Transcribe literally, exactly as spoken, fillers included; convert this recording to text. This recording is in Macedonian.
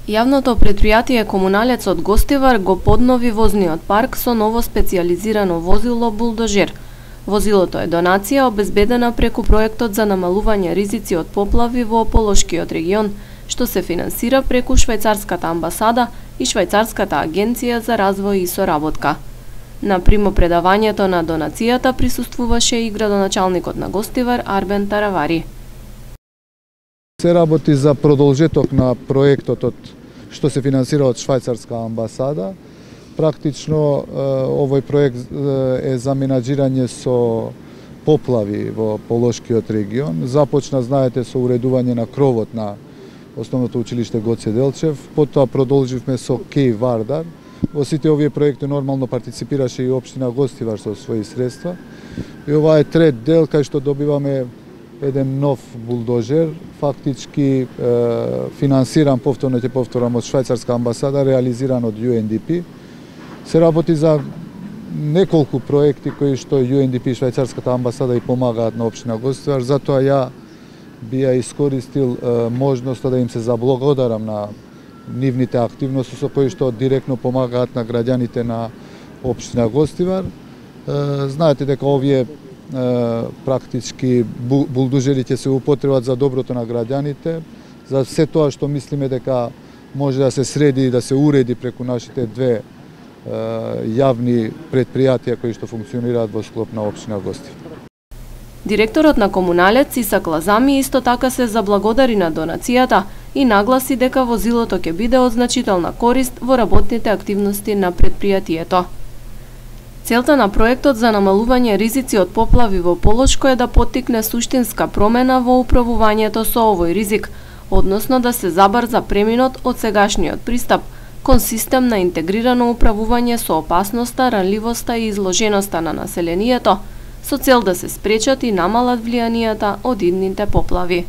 Јавното претпријатие Комуналец од Гостивар го поднови возниот парк со ново специјализирано возило булдожер. Возилото е донација обезбедена преку проектот за намалување ризици од поплави во Полошкиот регион, што се финансира преку Швајцарската амбасада и Швајцарската агенција за развој и соработка. На примопредавањето на донацијата присуствуваше и градоначалникот на Гостивар Арбен Таравари. Се работи за продолжеток на проектот од што се финансира од Швајцарска амбасада. Практично овој проект е за менаџирање со поплави во Полошкиот регион. Започна, знаете, со уредување на кровот на Основното училиште Гоце Делчев, потоа продолживме со Кеј Вардар. Во сите овие проекти нормално партиципираше и општина Гостивар со своји средства. И ова е трет дел кај што добиваме еден нов булдожер, фактички е, финансиран, повторно ќе повторам, од Швајцарска амбасада, реализиран од Ю Ен Ди Пи. Се работи за неколку проекти кои што Ю Ен Ди Пи и Швајцарската амбасада и помагаат на општина Гостивар, затоа ја би ја искористил е, можноста да им се заблагодарам на нивните активности со кои што директно помагаат на граѓаните на општина Гостивар. Е, знаете дека овие практички булдожери ќе се употребат за доброто на граѓаните, за се тоа што мислиме дека може да се среди и да се уреди преку нашите две е, јавни предпријатија кои што функционираат во склоп на општина Гостивар. Директорот на Комуналец Исак Лазами исто така се заблагодари на донацијата и нагласи дека возилото ќе биде од значителна корист во работните активности на предпријатието. Целта на проектот за намалување ризици од поплави во Полошко е да поттикне суштинска промена во управувањето со овој ризик, односно да се забрза преминот од сегашниот пристап кон систем на интегрирано управување со опасноста, ранливоста и изложеноста на населението, со цел да се спречат и намалат влијанијата од идните поплави.